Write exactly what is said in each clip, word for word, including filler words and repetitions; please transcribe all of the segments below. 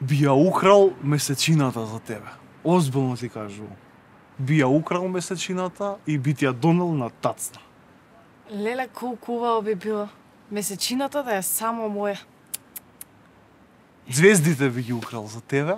Би ја украл месечината за тебе. Озбилно ти кажувам. Би ја украл месечината и би ти ја донел на тацна. Леле, колку убаво би било. Месечината да е само моја. Звездите би ги украл за тебе.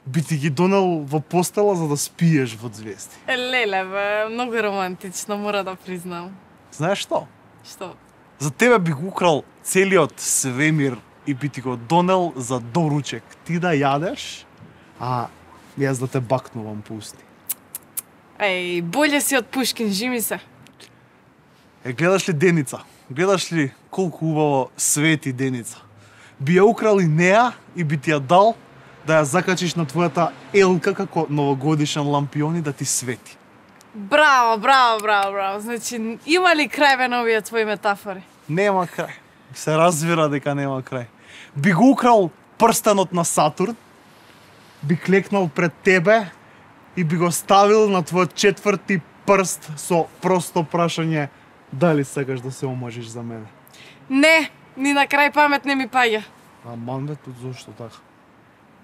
Би ти ги донел во постела за да спиеш во звезди. Е, леле, бе, многу романтично, мора да признам. Знаеш што? Што? За тебе би го украл целиот свемир и би ти го донел за доручек. Ти да јадеш, а јас да те бакнувам по усти. Еј, боле си од Пушкин, жими се. Е, гледаш ли Деница? Гледаш ли колку убаво свети Деница? Би ја украл и неа и би ти ја дал да ја закачиш на твојата елка како новогодишен лампион и да ти свети. Браво, браво, браво, браво. Значи, има ли крај бе на овие твои метафори? Нема крај. Се разбира дека нема крај. Би го украл прстенот на Сатурн, би клекнал пред тебе и би го ставил на твојот четврти прст со просто прашање дали сакаш да се омажиш за мене. Не, ни на крај памет не ми паѓа. Аман бе, тут зошто така?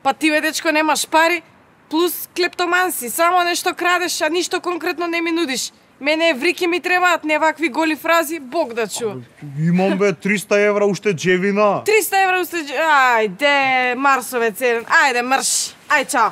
Па ти бе, дечко, немаш пари, плюс клептоман си, само нешто крадеш, а ништо конкретно не ми нудиш. Мене еврики ми требаат, не вакви голи фрази, Бог да чува. Имам бе триста евра уште джевина. триста евра уште... Ајде, Марсовец еден, ајде, мрш, ај, чао.